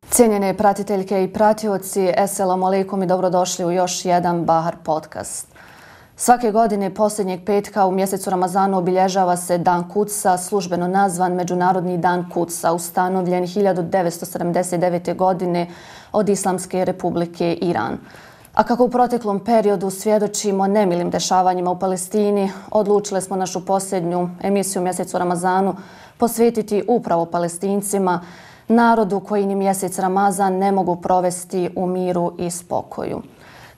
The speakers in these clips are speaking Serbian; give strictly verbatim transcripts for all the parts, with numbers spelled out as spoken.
Cijenjene pratiteljke i pratioci, eselamu alejkum i dobrodošli u još jedan Bahar podcast. Svake godine posljednjeg petka u mjesecu Ramazanu obilježava se Dan Kudsa, službeno nazvan Međunarodni dan Kudsa, ustanovljen hiljadu devetsto sedamdeset devete. godine od Islamske republike Iran. A kako u proteklom periodu svjedočimo nemilim dešavanjima u Palestini, odlučili smo našu posljednju emisiju u mjesecu Ramazanu posvetiti upravo Palestincima, narodu koji ni mjesec Ramazan ne mogu provesti u miru i spokoju.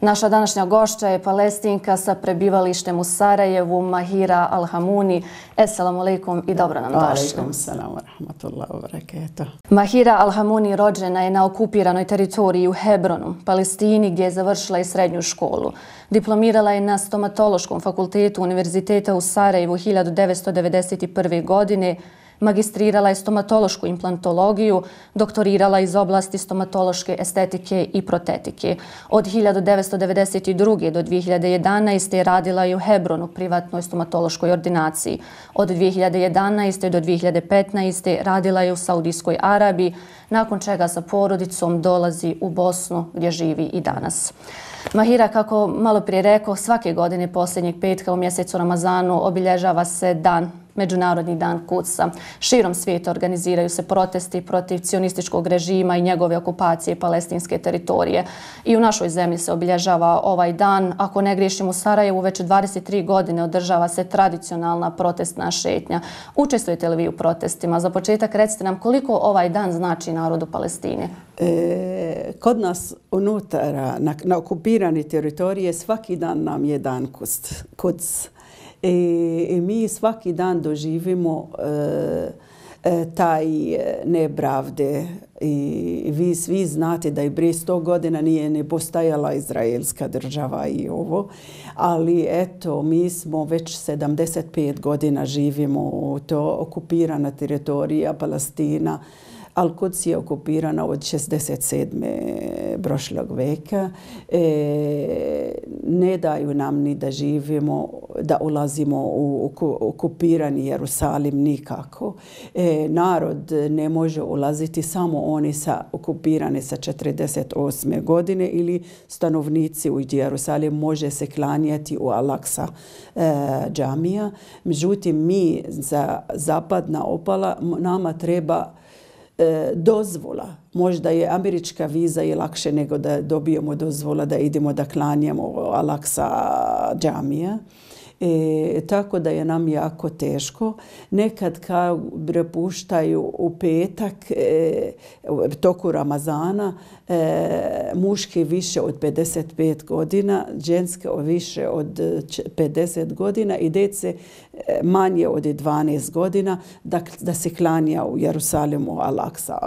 Naša današnja gošća je Palestinka sa prebivalištem u Sarajevu, Mahira Alhamuni. Esselamu alejkum i dobro nam došli. Alejkum selam wa rahmatullahi wa barakatuh. Mahira Alhamuni rođena je na okupiranoj teritoriji u Hebronu, Palestini, gdje je završila i srednju školu. Diplomirala je na stomatološkom fakultetu Univerziteta u Sarajevu hiljadu devetsto devedeset prve. godine, magistrirala je stomatološku implantologiju, doktorirala iz oblasti stomatološke estetike i protetike. Od hiljadu devetsto devedeset druge. do dvije hiljade jedanaeste. radila je u Hebronu, privatnoj stomatološkoj ordinaciji. Od dvije hiljade jedanaeste. do dvije hiljade petnaeste. radila je u Saudijskoj Arabiji, nakon čega sa porodicom dolazi u Bosnu gdje živi i danas. Mahira, kako malo prije rekao, svake godine posljednjeg petka u mjesecu Ramazanu obilježava se dan Međunarodni dan Kudsa. Širom svijeta organiziraju se protesti protiv cionističkog režima i njegove okupacije palestinske teritorije. I u našoj zemlji se obilježava ovaj dan. Ako ne griješim, u Sarajevu već dvadeset tri godine održava se tradicionalna protestna šetnja. Učestvujete li vi u protestima? Za početak recite nam koliko ovaj dan znači narodu Palestine. E, kod nas unutar, na, na okupirani teritorije, svaki dan nam je dan Kuds. I, i mi svaki dan doživimo e, e, taj nepravde. I vi svi znate da i prije sto godina nije ne postajala izraelska država i ovo. Ali eto, mi smo već sedamdeset pet godina živimo u to okupirana teritorija Palestina. Al-Quds je okupirana od šezdeset sedme prošlog veka. E, ne daju nam ni da živimo, da ulazimo u okupirani Jerusalim nikako. E, narod ne može ulaziti, samo oni sa okupirani sa četrdeset osme. godine ili stanovnici u Jerusalim može se klanjati u Al-Aqsa e, džamija. Međutim, mi za zapadna opala nama treba dozvola. Možda je američka viza i lakše nego da dobijemo dozvola da idemo da klanjamo Al-Aqsa džamija. E, tako da je nam jako teško. Nekad kao prepuštaju u petak e, toku Ramazana e, muški više od pedeset pet godina, ženske više od pedeset godina i djece manje od dvanaest godina da, da se klanja u Jerusalimu Al-Aqsa.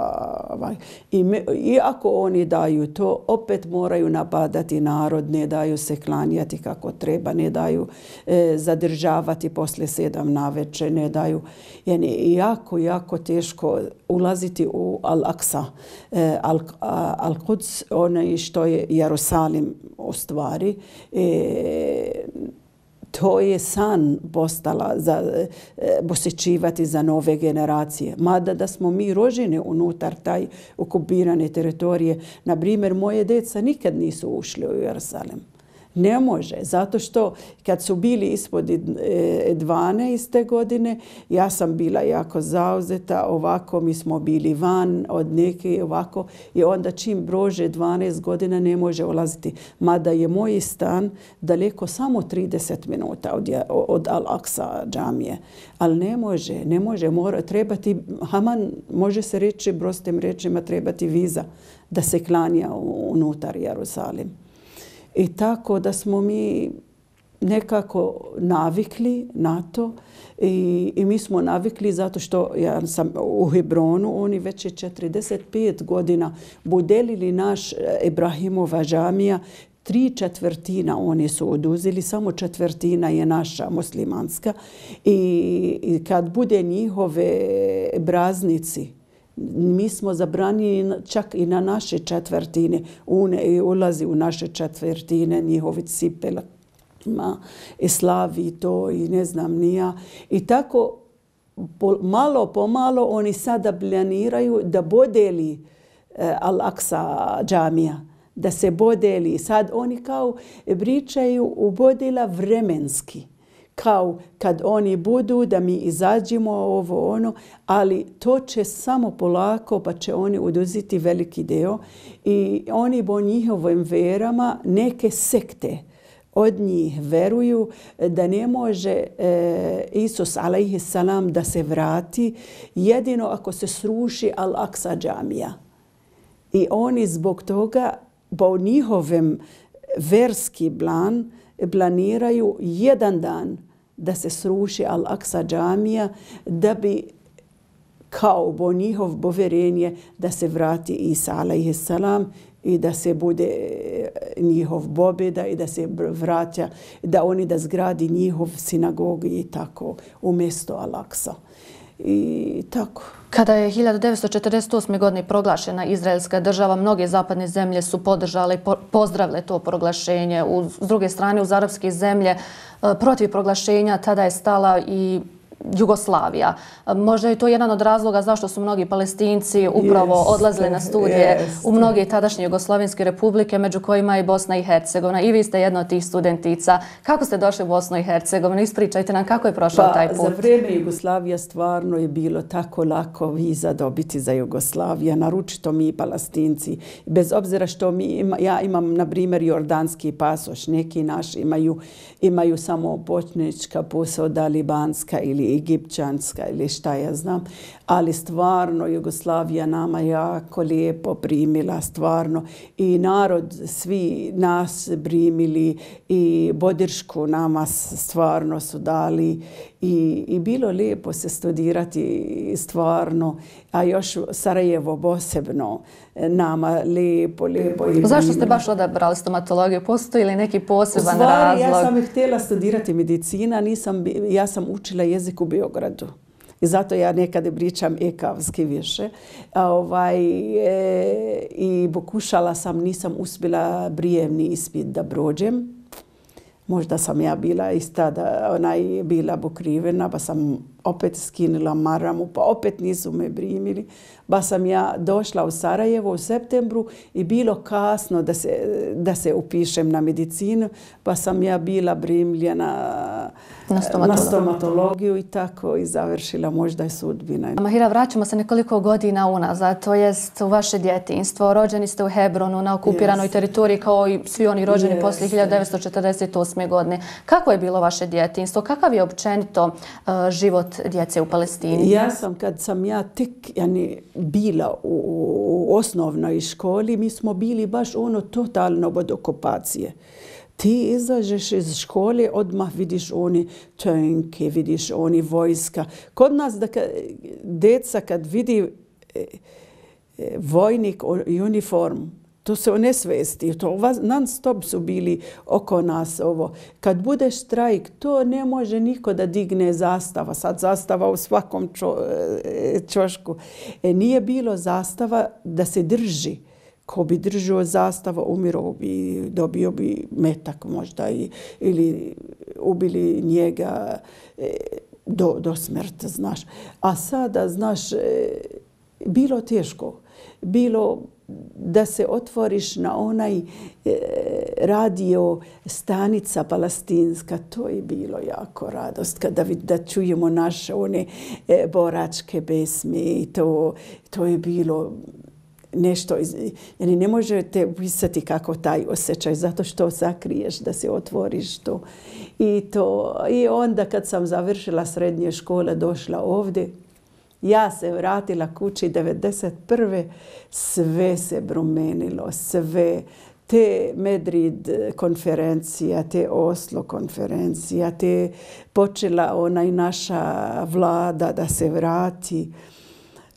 I, me, I ako oni daju to, opet moraju napadati narod, ne daju se klanjati kako treba, ne daju e, zadržavati poslije sedam navečer, ne daju. Je jako, jako teško ulaziti u Al-Aqsa. E, Al, Al-Quds, ono što je Jerusalim u stvari, e, to je san postala za e, posjećivati za nove generacije. Mada da smo mi rođeni unutar taj okupirane teritorije. Na primjer, moje djeca nikad nisu ušli u Jerusalim. Ne može, zato što kad su bili ispod dvanaeste. godine, ja sam bila jako zauzeta, ovako mi smo bili van od neke ovako i onda čim prođe dvanaest godina ne može ulaziti. Mada je moj stan daleko samo trideset minuta od, od Al-Aqsa džamije. Ali ne može, ne može, mora, trebati, haman, može se reći prostim rečima, trebati viza da se klanja unutar Jerusalim. I tako da smo mi nekako navikli na to i, i mi smo navikli zato što ja sam u Hebronu, oni već je četrdeset pet godina budelili naš Ibrahimova džamija, tri četvrtina oni su oduzeli, samo četvrtina je naša muslimanska i, i kad bude njihove praznici, mi smo zabranili čak i na naše četvrtine. Une ulazi u naše četvrtine, njihovi cipela gostima i slavi to i ne znam nija. I tako malo po malo oni sada planiraju da bodeli Al-Aqsa džamija, da se bodeli. Sad oni kao pričaju u bodela vremenski. Kao kad oni budu da mi izađemo ovo ono, ali to će samo polako pa će oni oduzeti veliki deo i oni po njihovim verama neke sekte od njih veruju da ne može e, Isus alejhi salam da se vrati jedino ako se sruši Al-Aqsa džamija. I oni zbog toga po njihovem verski plan planiraju jedan dan da se sruši Al-Aqsa džamija da bi kao po njihov poverenje da se vrati Isa alejhi salam i da se bude njihov pobjeda i da se vraća, da oni da zgradi njihov sinagog i tako umjesto Al-Aqsa. I tako. Kada je hiljadu devetsto četrdeset osme. godine proglašena izraelska država, mnoge zapadne zemlje su podržale i pozdravile to proglašenje. S druge strane, uz arapske zemlje protiv proglašenja tada je stala i Jugoslavija. Možda je to jedan od razloga zašto su mnogi Palestinci upravo yes, odlazili na studije yes. u mnoge tadašnje Jugoslavenske republike, među kojima je Bosna i Hercegovina. I vi ste jedna od tih studentica. Kako ste došli u Bosnu i Hercegovinu? Ispričajte nam kako je prošao pa, taj put. Za vrijeme Jugoslavija stvarno je bilo tako lako viza dobiti za Jugoslaviju, naročito mi Palestinci. Bez obzira što mi ima, ja imam, na primjer, jordanski pasoš, neki naši imaju, imaju samo bošnjačka posoda, libanska ili egipćanska ili šta ja znam, ali stvarno Jugoslavija nama jako lijepo primila, stvarno. I narod, svi nas primili i podršku nama stvarno su dali i, i bilo lijepo se studirati stvarno, a još Sarajevo posebno nama lijepo, lijepo. Zašto ste baš odabrali stomatologiju? Postoji li neki poseban Stvari, razlog? Ja sam htjela studirati medicina, nisam, ja sam učila jezik u Beogradu. I zato ja nekada pričam ekavski više. A ovaj, e, I pokušala sam, nisam uspjela prijemni ispit da prođem. Možda sam ja bila ista da ona je bila pokrivena, pa sam opet skinula maramu, pa opet nisu me primili. Pa sam ja došla u Sarajevo u septembru i bilo kasno da se, da se upišem na medicinu, pa sam ja bila primljena na stomatologiju. na stomatologiju i tako i završila možda je sudbina. Mahira, vraćamo se nekoliko godina unazad, to jest u vaše djetinjstvo. Rođeni ste u Hebronu na okupiranoj yes. teritoriji kao i svi oni rođeni yes. poslije hiljadu devetsto četrdeset osme. godine. Kako je bilo vaše djetinjstvo? Kakav je općenito uh, život djece u Palestini? Ja sam, kad sam ja tek yani, bila u, u osnovnoj školi, mi smo bili baš ono totalno od okupacije. Ti izađeš iz škole, odmah vidiš oni tanke, vidiš oni vojska. Kod nas, da ka, deca kad vidi e, e, vojnik uniform, to se onesvesti. To non stop su bili oko nas ovo. Kad bude štrajk, to ne može niko da digne zastava. Sad zastava u svakom čo, čošku. E, nije bilo zastava da se drži. Ko bi držao zastava, umirao bi, dobio bi metak možda i, ili ubili njega e, do, do smrti, znaš. A sada, znaš, e, bilo teško. Bilo da se otvoriš na onaj e, radio stanica palestinska, to je bilo jako radost kada da čujemo naše one e, boračke pesme i to, to je bilo nešto, yani ne možete opisati kako taj osjećaj, zato što sakriješ da se otvoriš to. I, to. I onda kad sam završila srednje škole, došla ovdje, ja se vratila kući devedeset prve. Sve se promenilo, sve. Te Madrid konferencija, te Oslo konferencija, te počela onaj naša vlada da se vrati.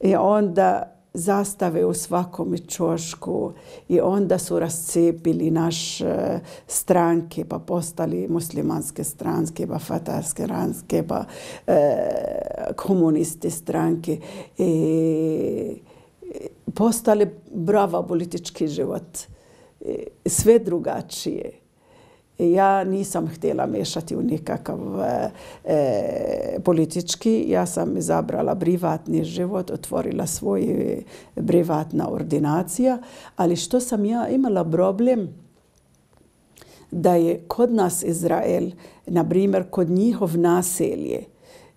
I onda zastave u svakom čošku i onda su rascepili naše stranke, pa postali muslimanske stranke, pa fatarske stranke, pa e, komuniste stranke. E, postali brava politički život. E, sve drugačije. Ja nisam htjela mešati u nikakav e, politički. Ja sam izabrala privatni život, otvorila svoj privatna ordinacija. Ali što sam ja imala problem da je kod nas Izrael, na primjer kod njihov naselje,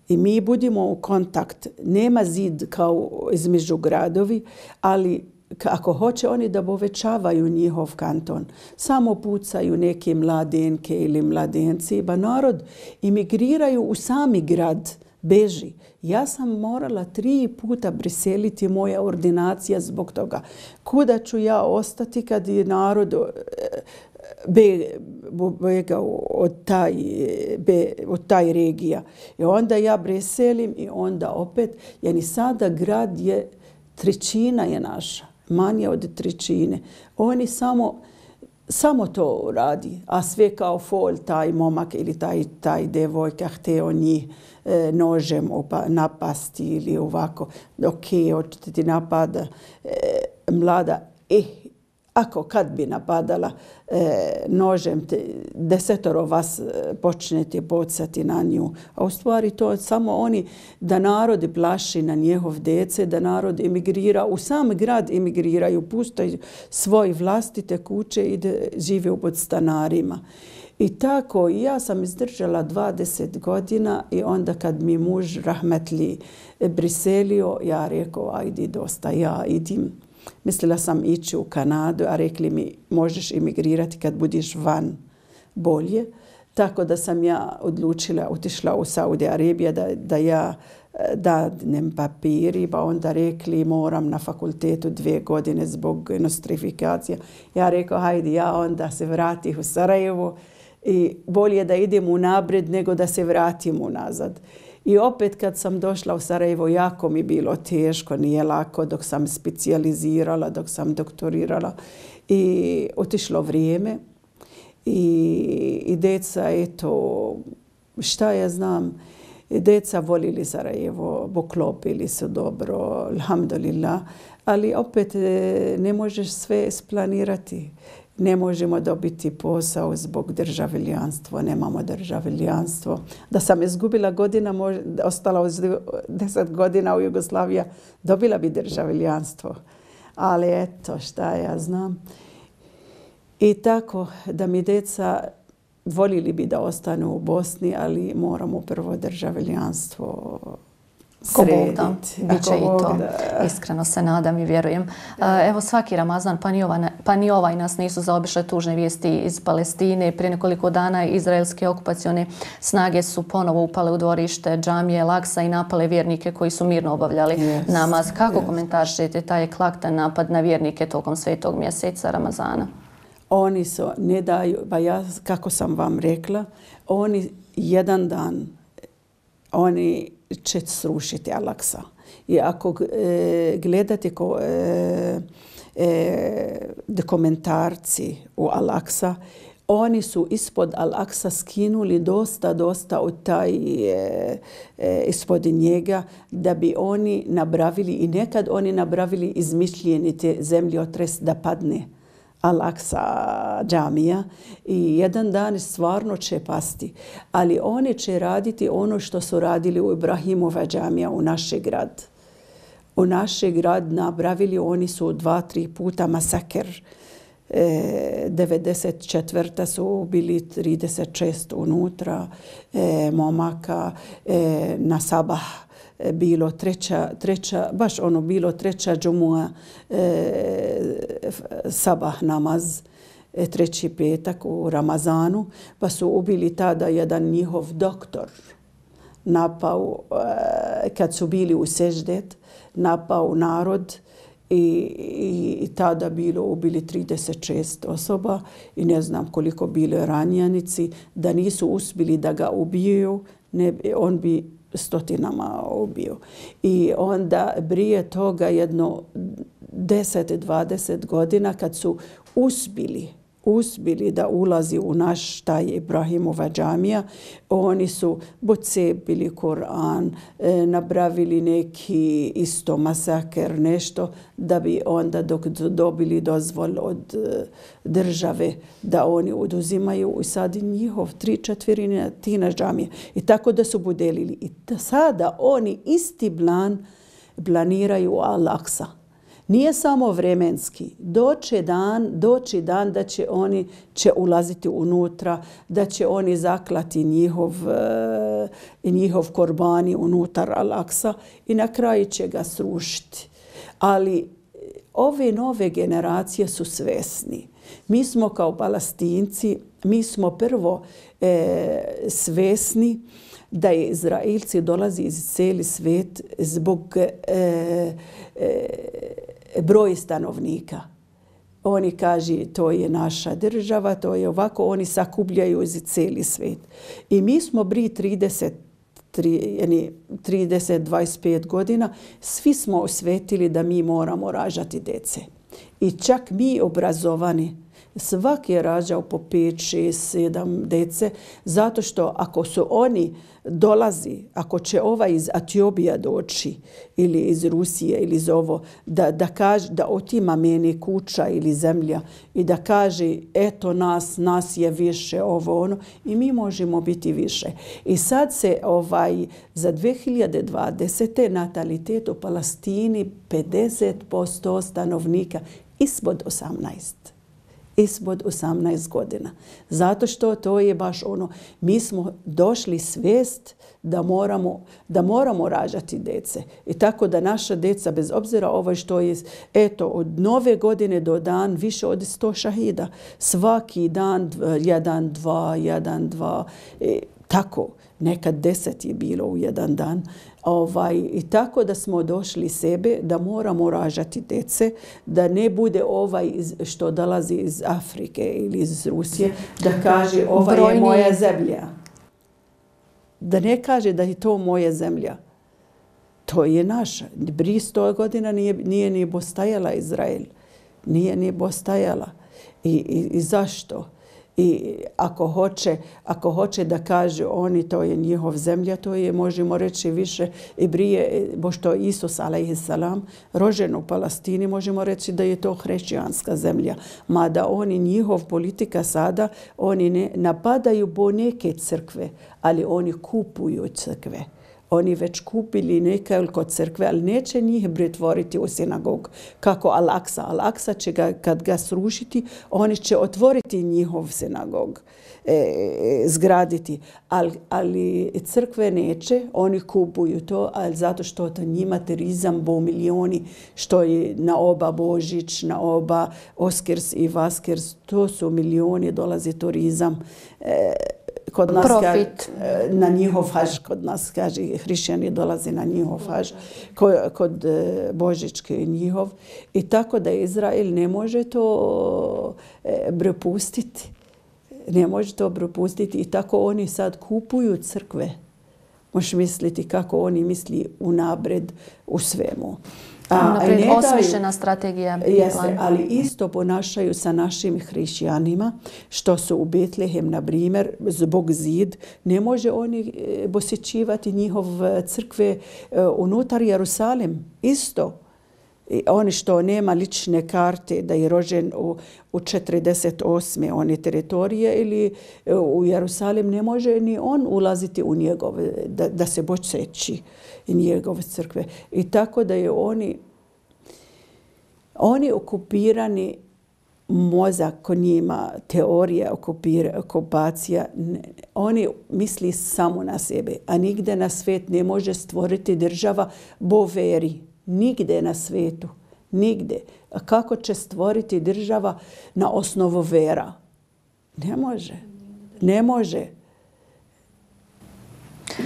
i mi budimo u kontakt, nema zid kao između gradovi, ali ako hoće oni da povećavaju njihov kanton, samo pucaju neke mladenke ili mladenci, ba narod imigriraju u sami grad, beži. Ja sam morala tri puta preseliti moja ordinacija zbog toga. Kuda ću ja ostati kad je narod begao od taj, be, od taj regija. I onda ja preselim i onda opet, jer sada grad je, trećina je naša. Manje od trećine. Oni samo, samo to radi, a sve kao fol, taj momak ili taj, taj devojka hteo njih e, nožem opa, napasti ili ovako. Ok, hoćete ti napada e, mlada. Eh, ako kad bi napadala e, nožem, te, desetoro vas e, počnete bocati na nju. A u stvari to samo oni da narod plaši na njihov dece, da narod emigrira, u sam grad emigriraju, puštaju svoje vlastite kuće i da žive u podstanarima. I tako ja sam izdržala dvadeset godina i onda kad mi muž rahmetli priselio, ja rekao, ajde dosta, ja idim. Mislila sam ići u Kanadu, a rekli mi možeš emigrirati kad budiš van bolje. Tako da sam ja odlučila, otišla u Saudi Arabiju da, da ja dadnem papiri, pa onda rekli moram na fakultetu dvije godine zbog nostrifikacije. Ja rekao, hajde, ja onda se vratim u Sarajevo i bolje da idem u napred nego da se vratim unazad. I opet kad sam došla u Sarajevo, jako mi bilo teško, nije lako dok sam specijalizirala, dok sam doktorirala. I otišlo vrijeme i, i deca, eto, šta ja znam, deca volili Sarajevo, poklopili su dobro, alhamdulillah, ali opet ne možeš sve splanirati. Ne možemo dobiti posao zbog državljanstva, nemamo državljanstvo. Da sam izgubila godina, ostala deset godina u Jugoslaviji, dobila bi državljanstvo. Ali eto, šta ja znam. I tako da mi deca volili bi da ostanu u Bosni, ali moramo prvo državljanstvo srediti. Biće i to. Iskreno se nadam i vjerujem. Evo svaki Ramazan, pa ni, ova, pa ni ovaj nas nisu zaobišle tužne vijesti iz Palestine. Prije nekoliko dana izraelske okupacione snage su ponovo upale u dvorište džamije Al-Aksa i napale vjernike koji su mirno obavljali yes, namaz. Kako yes. komentaršete taj eklatantan napad na vjernike tokom svetog mjeseca Ramazana? Oni su, ne daju, ba ja, kako sam vam rekla, oni jedan dan, oni će srušiti Al-Aksa. I ako e, gledate ko, e, e, dokumentarci u Al-Aksa, oni su ispod Al-Aksa skinuli dosta, dosta od taj, e, e, ispod njega da bi oni napravili, i nekad oni napravili izmišljeni te zemljotres da padne Al-Aksa džamija i jedan dan stvarno će pasti. Ali oni će raditi ono što su radili u Ibrahimova džamija u naš grad. U naš grad napravili, oni su dva, tri puta masakr. E, devedeset četvrta su bili trideset šest unutra e, momaka e, na sabah. Bilo treća, treća, baš ono bilo treća džumua, e, sabah namaz, e, treći petak u Ramazanu, pa su ubili tada jedan njihov doktor. Napao, e, kad su bili u seždet, napao narod i, i, i tada bilo ubili trideset šest osoba i ne znam koliko bile ranjenici. Da nisu uspjeli da ga ubiju, ne, on bi stotinama ubio. I onda prije toga jedno deset do dvadeset godina kad su uspjeli, uspjeli da ulazi u naš taj Ibrahimova džamija, oni su pocepili Koran, e, napravili neki isto masakr, nešto, da bi onda dok dobili dozvol od e, države da oni oduzimaju i sad njihov tri četvrine tina džamije. I tako da su podelili. I da sada oni isti plan planiraju Al-Aqsa. Nije samo vremenski. Doće dan, doći dan da će oni će ulaziti unutra, da će oni zaklati njihov, njihov korbani unutar Al-Aqsa i na kraju će ga srušiti. Ali ove nove generacije su svesni. Mi smo kao Palestinci, mi smo prvo e, svesni da je Izraelci dolazi iz cijeli svijet zbog e, e, broj stanovnika. Oni kažu to je naša država, to je ovako, oni sakupljaju iz cijeli svijet. I mi smo bili trideset, trideset, dvadeset pet godina, svi smo osvetili da mi moramo rađati dece. I čak mi obrazovani, svaki je rađao po pet, šest, sedam dece, zato što ako su oni dolazi, ako će ovaj iz Etiopije doći ili iz Rusije ili iz ovo, da, da, kaže, da otima meni kuća ili zemlja i da kaže eto nas, nas je više ovo ono i mi možemo biti više. I sad se ovaj za dvije hiljade dvadesete natalitet u Palestini pedeset posto stanovnika ispod osamnaest. Ispod osamnaest godina. Zato što to je baš ono, mi smo došli svijest da moramo, da moramo rađati dece. I tako da naša deca, bez obzira ovo što je, eto, od nove godine do dan više od sto šahida. Svaki dan, jedan, dva, jedan, dva, e, tako. Nekad deset je bilo u jedan dan. Ovaj, I tako da smo došli sebe da moramo rađati dece, da ne bude ovaj iz, što dolazi iz Afrike ili iz Rusije, da kaže ova Brojni... je moja zemlja. Da ne kaže da je to moja zemlja. To je naša. Prije sto godina nije, nije ni postajala Izrael. Nije ni postajala. I, i, i zašto? I ako hoće, ako hoće da kaže oni to je njihov zemlja, to je, možemo reći, više i prije, pošto Isus alejhiselam rođen u Palestini, možemo reći da je to hrišćanska zemlja. Mada oni, njihov politika sada, oni ne napadaju po neke crkve, ali oni kupuju crkve. Oni već kupili nekoliko crkve, ali neće njih pretvoriti u sinagog. Kako Al-Aqsa. Al-Aqsa će ga, kad ga srušiti, oni će otvoriti njihov sinagog, e, zgraditi. Ali, ali crkve neće, oni kupuju to, ali zato što to njima turizam bo milioni, što je na oba Božić, na oba Oskrs i Vaskrs, to su milioni, dolazi turizam. E, Kod nas Profit. Ka, na njihov haž, kod nas kaže, hrišćani dolazi na njihov haž, kod, kod Božićke njihov. I tako da Izrael ne može to prepustiti. Ne može to prepustiti i tako oni sad kupuju crkve. Možeš misliti kako oni misli unapred u svemu. Naprijed osmišljena strategija. Jeste, ali isto ponašaju sa našim hrišćanima, što su u Betlehem, na primjer, zbog zid, ne može oni posjećivati njihov crkve unutar Jerusalim. Isto. I oni što nema lične karte da je rođen u, u četrdeset osme one teritorije ili u Jerusalim, ne može ni on ulaziti u njegove, da, da se posjeći njegove crkve. I tako da je oni, oni okupirani mozak kod njima, teorija okupira, okupacija, oni misli samo na sebe, a nigde na svijet ne može stvoriti država bo veri. Nigde na svijetu. Nigde. A kako će stvoriti država na osnovu vera? Ne može. Ne može.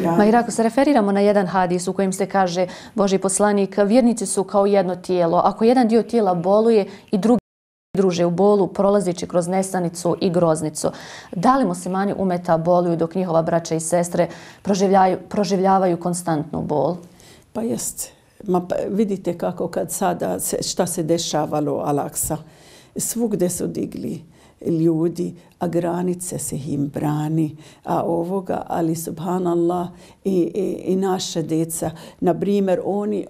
Ja. Mahira, ako se referiramo na jedan hadis u kojem se kaže Božji poslanik, vjernici su kao jedno tijelo. Ako jedan dio tijela boluje i drugi druže u bolu, prolazići kroz nesanicu i groznicu. Da li muslimani umeta boluju dok njihova braća i sestre proživljavaju, proživljavaju konstantnu bol? Pa jeste. Ma pa vidite kako kad sada se, šta se dešavalo u Al-Aqsa. Svugde su digli ljudi, a granice se im brani, a ovoga, ali subhanallah i, i, i naša djeca, na primjer, oni,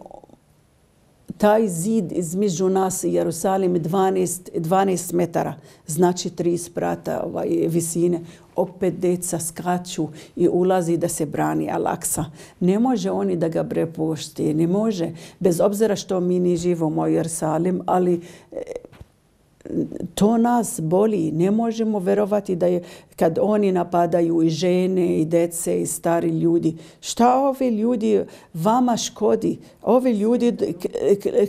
taj zid između nas i Jerusalim dvanaest, dvanaest metara, znači tri sprata ovaj, visine. Opet djeca skaču i ulazi da se brani Al-Aqsa. Ne može oni da ga prepušti, ne može, bez obzira što mi ne živimo u Jerusalim, ali to nas boli. Ne možemo verovati da je kad oni napadaju i žene i dece i stari ljudi. Šta ovi ljudi vama škodi? Ovi ljudi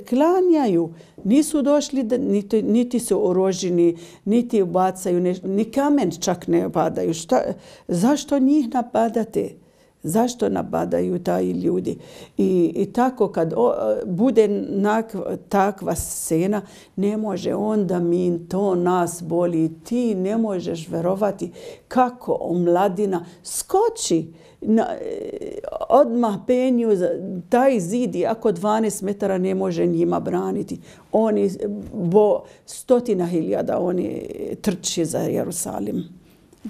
klanjaju. Nisu došli, da, niti, niti su oroženi, niti bacaju, ne, ni kamen čak ne padaju. Šta, zašto njih napadate? Zašto napadaju taj ljudi? I, i tako kad o, bude nak, takva scena, ne može onda mi to nas boli. Ti ne možeš verovati kako omladina skoči na, odmah penju taj zid, ako dvanaest metara ne može njima braniti. Oni, bo stotina hiljada, oni trči za Jerusalim.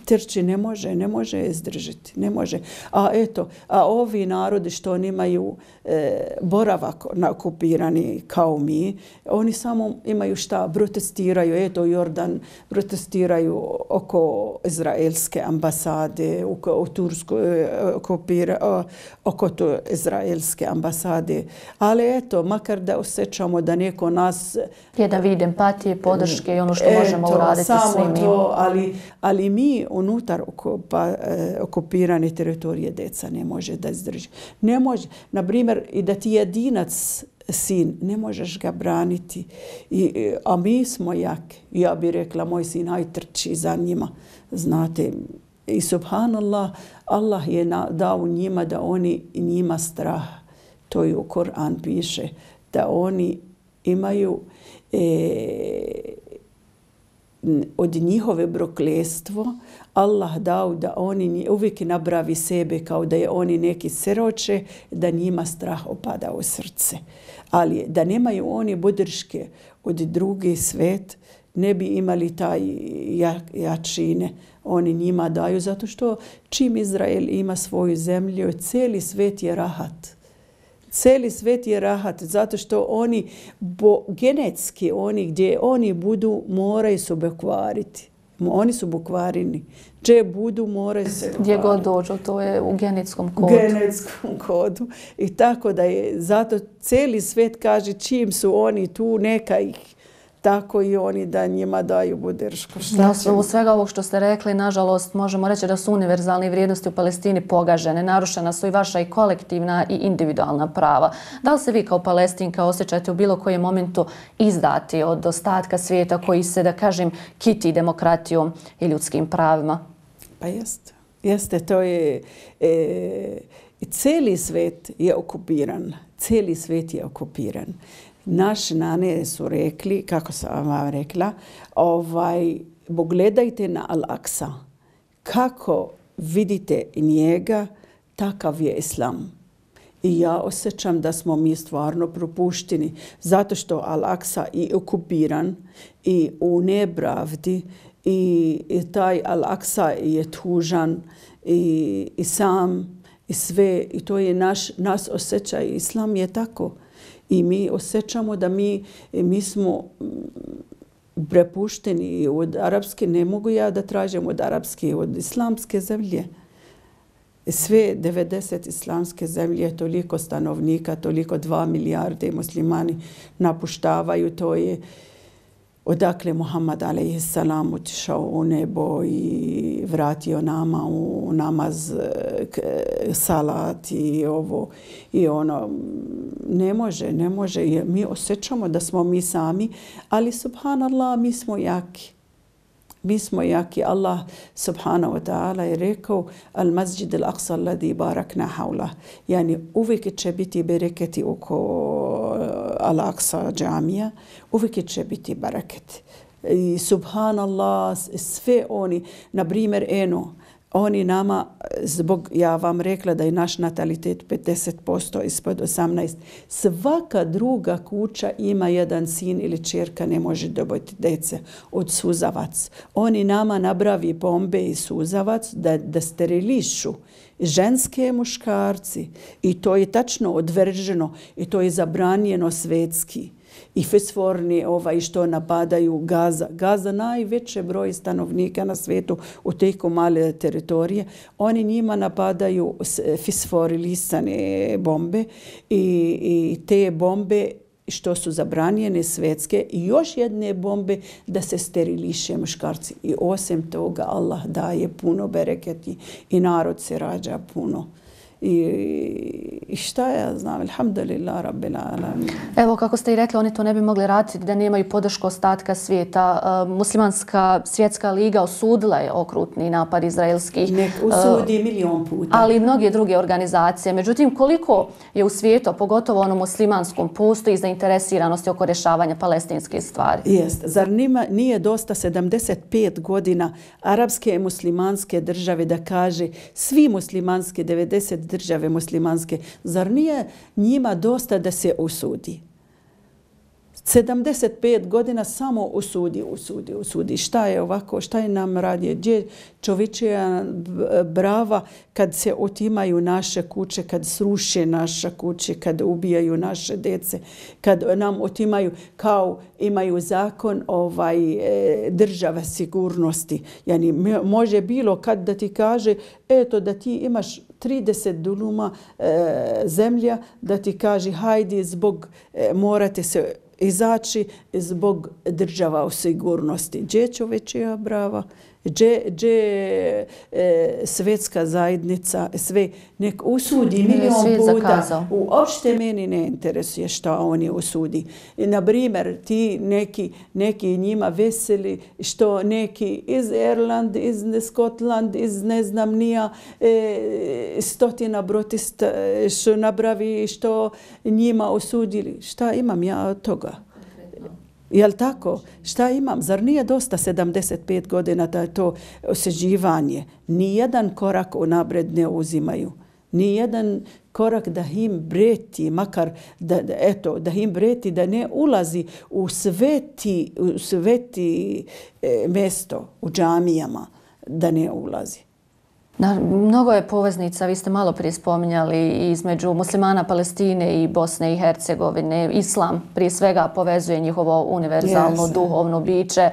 Trči ne može, ne može izdržati, ne može. A eto, a ovi narodi što nemaju e, boravak na okupirani kao mi, oni samo imaju šta, protestiraju, eto Jordan, protestiraju oko izraelske ambasade, oko, u Tursku, okupira, oko to izraelske ambasade. Ali eto, makar da osjećamo da neko nas... Je da vidi empatije, podrške i ono što eto, možemo uraditi samo svim to, ali, ali mi unutar okupa, eh, okupirane teritorije djeca ne može da izdrži. Ne može, na primjer, i da ti jedinac sin, ne možeš ga braniti. I, a mi smo jaki. Ja bih rekla, moj sin, haj trči za njima. Znate, i subhanallah, Allah je na, dao njima da oni njima strah. To je u Koran piše, da oni imaju e, od njihove prokletstvo Allah dao da oni uvijek nabravi sebe kao da je oni neki siroče, da njima strah opada u srce. Ali da nemaju oni podrške od drugi svet, ne bi imali taj jačine. Oni njima daju zato što čim Izrael ima svoju zemlju, cijeli svet je rahat. Cijeli svet je rahat zato što oni bo, genetski, oni gdje oni budu, moraju se bukvariti. Oni su bukvarini. Gdje budu, moraju se bukvariti. Gdje god dođu, to je u genetskom kodu. Genetskom kodu. I tako da je, zato cijeli svet kaže čim su oni tu, neka ih tako i oni da njima daju podršku. Na osnovu svega ovog što ste rekli, nažalost, možemo reći da su univerzalne vrijednosti u Palestini pogažene. Narušena su i vaša i kolektivna i individualna prava. Da li se vi kao Palestinka osjećate u bilo kojem momentu izdati od ostatka svijeta koji se, da kažem, kiti demokratijom i ljudskim pravima? Pa jeste. Jeste, to je... E, cijeli svet je okupiran. Cijeli svet je okupiran. Naši nane su rekli, kako sam vam rekla, ovaj, pogledajte na Al-Aqsa. Kako vidite njega, takav je islam. I ja osjećam da smo mi stvarno propušteni, zato što Al-Aqsa je okupiran i u nepravdi i, i taj Al-Aqsa je tužan i, i sam i sve. I to je naš, nas osjećaj. Islam je tako. I mi osjećamo da mi, mi smo prepušteni od arapske, ne mogu ja da tražim od arapske, od islamske zemlje. Sve devedeset islamske zemlje, toliko stanovnika, toliko dva milijarde muslimani napuštavaju, to je odakle Muhammad alejhi salam otišao u nebo i vratio nama u namaz, salat i ovo i ono. Ne može, ne može. Mi osjećamo da smo mi sami, ali subhanallah, mi smo jaki. Mi smo jaki. Allah subhanahu wa ta'ala je rekao al masjid al-aqsa alladhi barakna hawla. Yani uvijek će biti bereketi oko al-Aqsa džamija. Uvijek će biti bereketi. I subhanallah, sve oni, na primjer, eno, oni nama, zbog, ja vam rekla da je naš natalitet pedeset posto ispod osamnaest, svaka druga kuća ima jedan sin ili čerka, ne može dobiti dece od suzavac. Oni nama nabravi bombe i suzavac da, da sterilišu ženske muškarci i to je tačno odvrženo i to je zabranjeno svetski. I fosforni ovaj što napadaju Gaza. Gaza najveći broj stanovnika na svijetu u teko male teritorije. Oni njima napadaju fosforilisane bombe i, i te bombe što su zabranjene svetske i još jedne bombe da se steriliše muškarci. I osim toga Allah daje puno bereketi i narod se rađa puno. I, i šta ja znam, alhamdulillah, rabbil alamin. Evo, kako ste i rekli, oni to ne bi mogli raditi da nemaju podršku ostatka svijeta. Muslimanska svjetska liga osudila je okrutni napad izraelski. Nek usudi milion puta. Ali i mnoge druge organizacije. Međutim, koliko je u svijetu, pogotovo onom muslimanskom, postoji zainteresiranosti oko rješavanja palestinske stvari? Jest. Zar nima, nije dosta sedamdeset pet godina arapske i muslimanske države da kaže svi muslimanske devedeset države muslimanske, zar nije njima dosta da se usudi? sedamdeset pet godina samo usudi, usudi, usudi. Šta je ovako, šta je nam radi? Gdje čovječija brava kad se otimaju naše kuće, kad sruše naše kuće, kad ubijaju naše djece, kad nam otimaju, kao imaju zakon ovaj, država sigurnosti. Yani, može bilo kad da ti kaže, eto da ti imaš trideset duluma e, zemlja, da ti kaže hajde zbog e, morate se izaći zbog država u sigurnosti. Gdje čovječija brava? Gdje, gdje e, svjetska zajednica, sve nek usudi milion puta. Uopšte meni ne interesuje što oni usudi. Na primjer, ti neki, neki njima veseli što neki iz Irland, iz Skotland, iz ne znam nija e, stotina brotista što nabravi, što njima usudili. Šta imam ja od toga? Jel tako? Šta imam? Zar nije dosta sedamdeset pet godina da je to osuđivanje? Nijedan korak unaprijed ne uzimaju. Nijedan korak da im breti, makar da, da, eto, da im breti, da ne ulazi u sveti, u sveti e, mesto, u džamijama, da ne ulazi. Na, mnogo je poveznica, vi ste malo prije spominjali, između muslimana Palestine i Bosne i Hercegovine. Islam prije svega povezuje njihovo univerzalno yes. duhovno biće. E,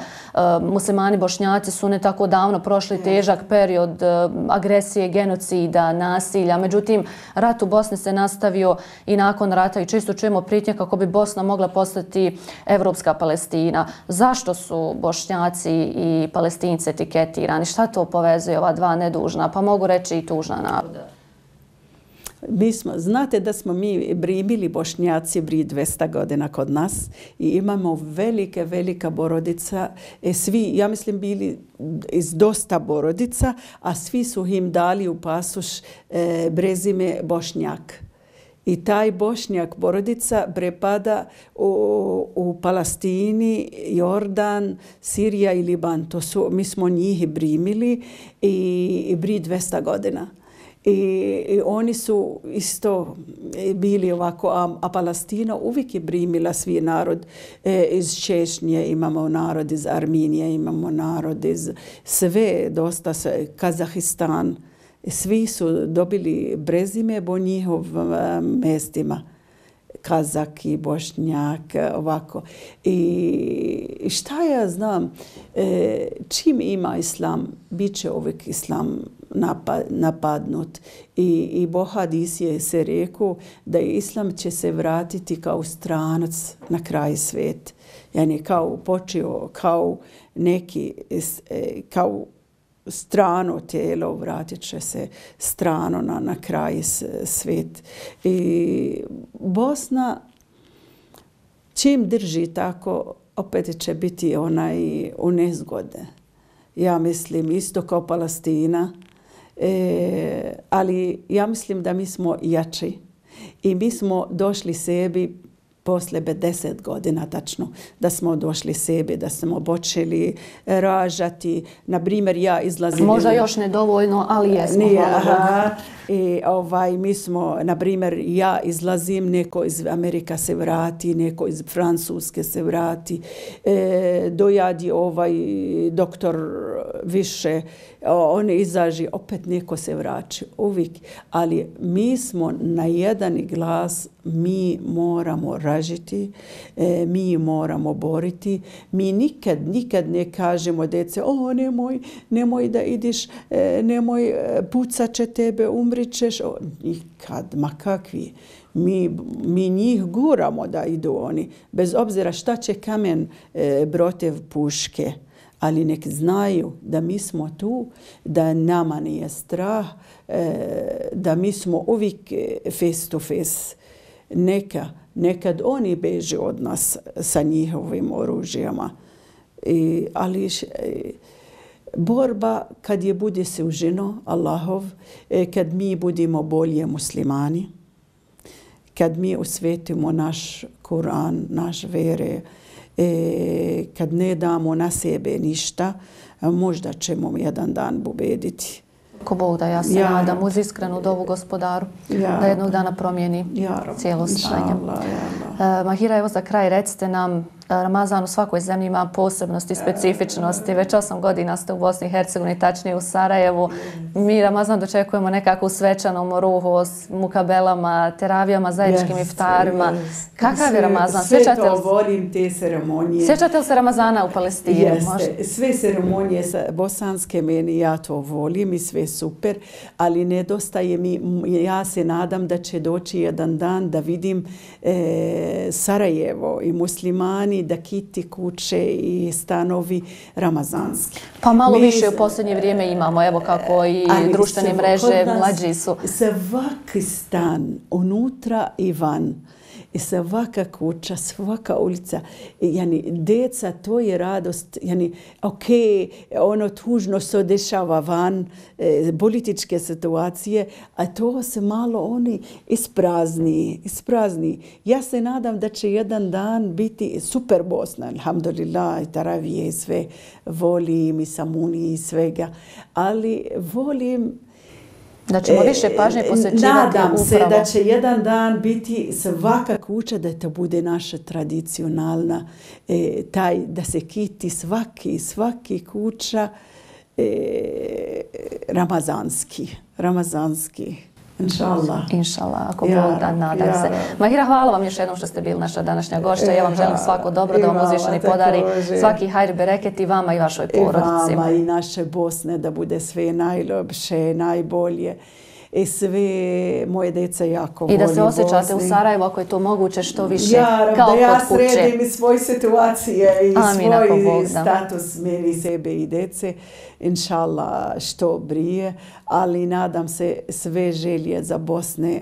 muslimani Bošnjaci su ne tako davno prošli yes. težak period e, agresije, genocida, nasilja. Međutim, rat u Bosni se nastavio i nakon rata i često čujemo prijetnje kako bi Bosna mogla postati evropska Palestina. Zašto su Bošnjaci i Palestinci etiketirani? Šta to povezuje ova dva nedužna, pa mogu reći i tužna naroda? Mi smo, znate da smo mi bili Bošnjaci bri dvesta godina kod nas i imamo velike, velika porodica. E, svi, ja mislim, bili iz dosta porodica, a svi su im dali u pasoš e, brezime Bošnjak. I taj Bošnjak porodica prepada u, u Palestini, Jordan, Sirija i Liban. To su, mi smo njih primili i, i bri dvesta godina. I, I oni su isto bili ovako, a, a Palestina uvijek je primila svi narod. E, iz Češnje imamo narod, iz Armenije imamo narod, iz sve, dosta se, Kazahistan. Svi su dobili brezime po njihovim mestima. Kazaki, Bošnjak, ovako. I šta ja znam, e, čim ima islam, bit će uvijek islam napadnut. I, i Bohadis je se rekao da islam će se vratiti kao stranac na kraj svijeta. Yani kao počeo, kao neki, kao strano tijelo, vratit će se strano na, na kraj svijet. I Bosna, čim drži tako, opet će biti onaj u nezgode. Ja mislim isto kao Palestina, e, ali ja mislim da mi smo jači. I mi smo došli sebi posle pedeset godina tačno, da smo došli sebi, da smo počeli ražati. Na primjer, ja izlazim... Možda još nedovoljno, ali jesmo. Nije, aha. I ovaj, mi smo, na primjer, ja izlazim, neko iz Amerika se vrati, neko iz Francuske se vrati, e, dojadi ovaj doktor više, on izaži, opet neko se vraća, uvijek. Ali mi smo na jedan glas, mi moramo ražiti, e, mi moramo boriti. Mi nikad, nikad ne kažemo djece, o nemoj, nemoj da ideš, e, nemoj, pucat će tebe, umrićeš. O, nikad, ma kakvi. Mi, mi njih guramo da idu oni, bez obzira šta će kamen e, protiv puške. Ali nek znaju da mi smo tu, da nama nije strah, e, da mi smo uvijek face to face. Neka, nekad oni beže od nas sa njihovim oružjama. I, ali e, borba kad je bude suženo, Allahov, e, kad mi budemo bolje muslimani, kad mi osvetimo naš Kur'an, naš vere, e, kad ne damo na sebe ništa, možda ćemo jedan dan pobediti. Ko Bog da, ja se ja nadam uz iskrenu dovu Gospodaru ja da jednog dana promijeni ja cijelo stanje. Ja uh, Mahira, evo za kraj recite nam, Ramazan u svakoj zemlji ima posebnosti, specifičnosti. Već osam godina ste u Bosni i Hercegovini, tačnije u Sarajevu. Mi Ramazan dočekujemo nekako u svečanom ruhu, s mukabelama, teravijama, zajedničkim yes, iftarima. Yes. Kakav je Ramazan? Sve Sjećate to volim, te ceremonije. Sjećate li se Ramazana u Palestini? Jeste. Sve ceremonije bosanske, meni ja to volim i sve super, ali nedostaje mi, ja se nadam da će doći jedan dan da vidim e, Sarajevo i muslimani da kiti kuće i stanovi ramazanski. Pa malo mi, više u posljednje vrijeme imamo, evo kako i društvene mreže, mlađi su. Svaki stan, unutra i van, i svaka kuća, svaka ulica, yani, deca, to je radost. Yani, ok, ono tužno se dešava van, e, političke situacije, a to se malo oni isprazni, isprazni. Ja se nadam da će jedan dan biti super Bosna, alhamdulillah, i taravije i sve, volim i samuni i svega, ali volim da ćemo više pažnje posvećivati nadam upravo. se da će jedan dan biti svaka kuća da to bude naša tradicionalna, e, taj da se kiti svaki, svaki kuća e, ramazanski, ramazanski. Inšallah. Inšallah, ako ja, Bog da, nadam ja, se. Mahira, hvala vam još jednom što ste bili naša današnja gošća. Ja vam želim svako dobro, da vam uzvišeni podari svaki hajr bereket i vama i vašoj porodici. I vama i naše Bosne da bude sve najljepše, najbolje. I sve moje deca jako voli I da se osjećate Bosni. U Sarajevu, ako je to moguće, što više ja, kao da ja kod kuće. sredim i svoje situacije i Amin, svoj status meni, sebe i dece. Inšallah, što brije. Ali nadam se sve želje za Bosne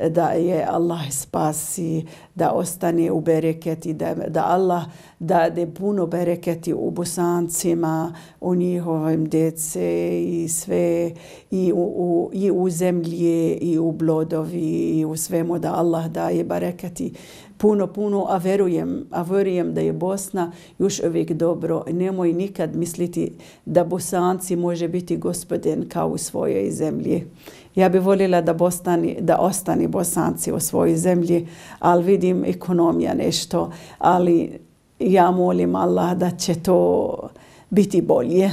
da je Allah spasi, da ostane u bereketi, da, da Allah dade puno bereketi u Bosancima, u njihovim djece i sve, i u, u, i u zemlji, i u blodovi, i u svemu, da Allah daje bereketi puno, puno, a verujem, a verujem da je Bosna još uvijek dobro. Nemoj nikad misliti da Bosanci može biti gospodin kao u svojoj zemlji. Ja bih voljela da, Bostani, da ostani Bosanci u svojoj zemlji, ali vidim ekonomija nešto, ali ja molim Allah da će to biti bolje.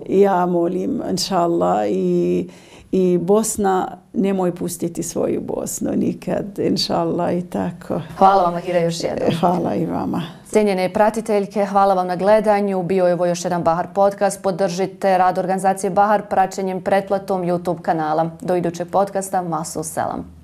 Ja molim, inšallah, i I Bosna, nemoj pustiti svoju Bosnu nikad, inšallah, i tako. Hvala vam, Mahira, još jednom. Hvala i vama. Cijenjene pratiteljke, hvala vam na gledanju. Bio je ovo još jedan Bahar podcast. Podržite rad organizacije Bahar praćenjem pretplatom YouTube kanala. Do idućeg podcasta, masu selam.